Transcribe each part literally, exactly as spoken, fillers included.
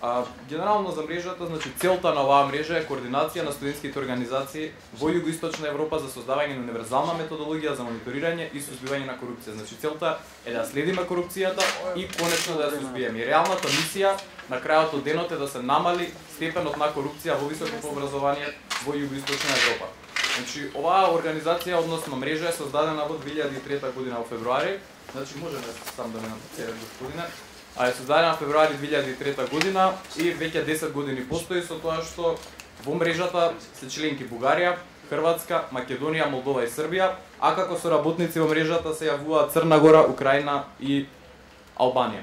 А, генерално за мрежата, значи целта на оваа мрежа е координација на студентските организации во Југоисточна Европа за создавање на универзална методологија за мониторирање и сузбивање на корупција. Значи целта е да следиме корупцијата и конечно да ја сузбиеме. И реалната мисија на крајот од денот е да се намали степенот на корупција во високото образование во Југоисточна Европа. Значи оваа организација, односно мрежа, е создадена во две илјади и трета година во февруари. Значи можеме сам да ме напоцерам, господине. А е создадена во февруари две илјади и трета година и веќе десет години постои, со тоа што во мрежата се членки Бугарија, Хрватска, Македонија, Молдова и Србија, а како соработници во мрежата се јавуваат Црна Гора, Украина и Албанија.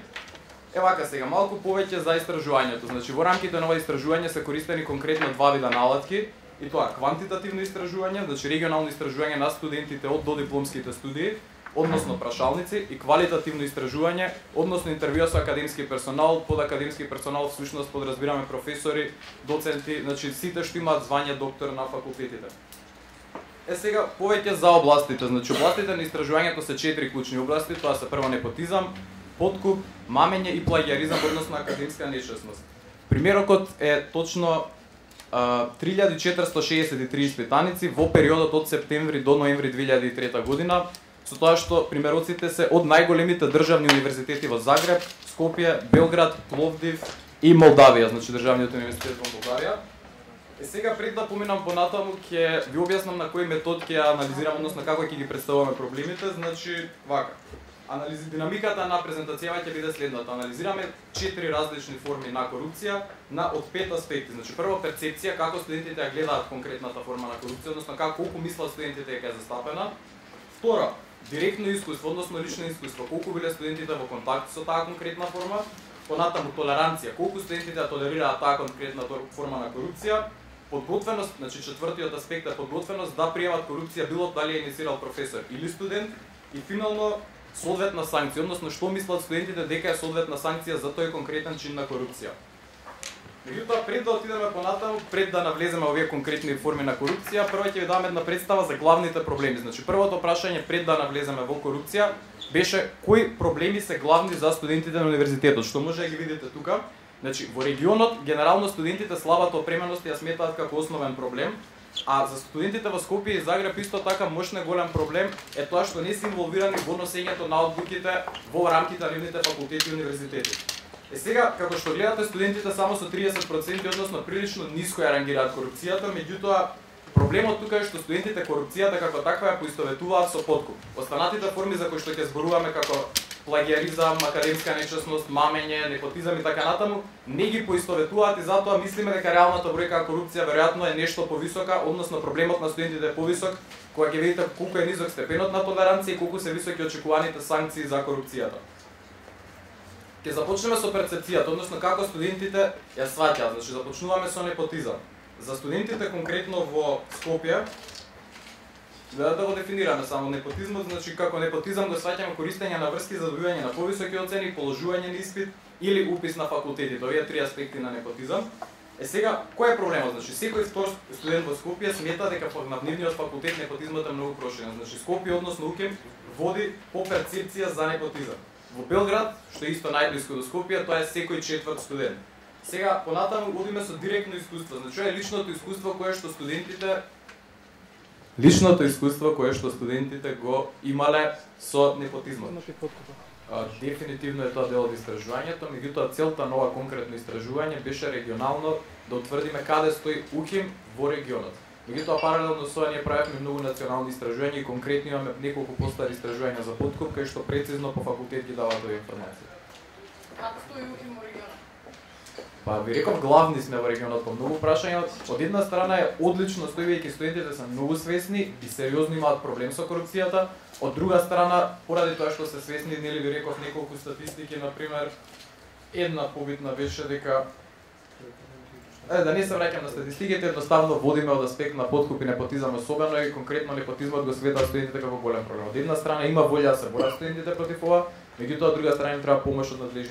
Евака сега малку повеќе за истражувањето. Значи во рамките на ова истражување се користени конкретно два вида наладки, и тоа квантитативно истражување, значи регионално истражување на студентите од додипломските студии, односно прашалници, и квалитативно истражување, односно интервјуа со академски персонал. Под академски персонал всушност подразбираме професори, доценти, значи сите што имаат звање доктор на факултетите. Е сега повеќе за областите. Значи областите на истражувањето се четири клучни области, тоа се прво непотизам, подкуп, мамење и плагиаризам, односно академска нечесност. Примерокот е точно три илјади четиристотини шеесет и три испитаници во периодот од септември до ноември две илјади и трета година, со тоа што примероците се од најголемите државни универзитети во Загреб, Скопје, Белград, Пловдив и Молдавија, значи државниот универзитет во Молдавија. Е сега пред да поминам понатаму ќе ви објаснам на кој метод ќе анализирам, односно како ќе ги представуваме проблемите. Значи вака. Анализи динамиката на презентацијава ќе биде следната. Анализираме четири различни форми на корупција на од пет аспекти. Значи прво перцепција, како студентите ја гледаат конкретната форма на корупција, односно како колку мислат студентите дека е застапена. Втора, директно искуство, односно лично искуство, колку биле студентите во контакт со таа конкретна форма. Понатаму толеранција, колку студентите ја толерираат таа конкретна форма на корупција. Подготвеност, значи четвртиот аспект е подготвеност да приемат корупција било дали е инициирал професор или студент. И финално соодветна санкција, односно што мислат студентите дека е соодветна санкција за тој конкретен чин на корупција. Меѓутоа, пред да отидеме понатаму, пред да навлеземе овие конкретни форми на корупција, прво ќе ви дам една представа за главните проблеми. Значи првото прашање пред да навлеземе во корупција беше кои проблеми се главни за студентите на универзитетот, што може да ги видите тука. Значи во регионот генерално студентите слабата опременост ја сметаат како основен проблем. А за студентите во Скопје и Загреб исто така мощен голем проблем е тоа што не се инволвирани во носењето на одлуките во рамките на нивните факултети и универзитети. Е сега, како што гледате, студентите само со триесет проценти, односно прилично ниско ја рангираат корупцијата, меѓутоа проблемот тука е што студентите корупцијата како таква ја поистоветуваат со подкуп. Останатите форми за кои што ќе зборуваме како плагиаризам, академска нечесност, мамење, непотизам и така натаму, не ги поистоветуваат и затоа мислиме дека реалната бројка корупција веројатно е нешто повисока, односно проблемот на студентите е повисок, кога ќе видите колку е низок степенот на толеранција и колку се високи очекуваните санкции за корупцијата. Ќе започнеме со перцепцијата, односно како студентите ја сваќаат. Значи започнуваме со непотизам. За студентите конкретно во Скопје, да да го дефинираме само непотизмот, значи како непотизам го сваќаме користење на врски за добивање на повисоки оцени, положување на испит или упис на факултетите. Овие три аспекти на непотизам. Е сега, кој е проблемот? Значи секој втор студент во Скопје смета дека на нивниот факултет непотизмот е многу проширен. Значи Скопје, односно УКЕМ, води по перцепција за непотизам. Во Белград, што е исто најблиску до Скопје, тоа е секој четврт студент. Сега понатаму одиме со директно искуство. Значи е личното искуство кое што студентите личното искуство кое што студентите го имале со непотизмот. Дефинитивно е тоа дел од истражувањето, меѓутоа целта на ова конкретно истражување беше регионално да утврдиме каде стои УКИМ во регионот. Меѓутоа паралелно со тоа ние правевме многу национални истражувања и конкретно имаме неколку постари истражувања за подкуп кај што прецизно по факултет ги даваат овие информации. Како стои УКИМ во регионот? Па ви реков, главни сме во регионот по многу прашања. Од една страна е одлично стојувајќи студентите се многу свесни и сериозно имаат проблем со корупцијата. Од друга страна, поради тоа што се свесни, нели ви реков неколку статистики, на пример, една побитна беше дека Е, да не се враќам на статистиките, едноставно водиме од аспект на подкуп и непотизам особено и конкретно непотизмот го светат студентите како голем проблем. Од една страна има волја да се борат студентите против ова, меѓутоа од друга страна им треба помош од надлежни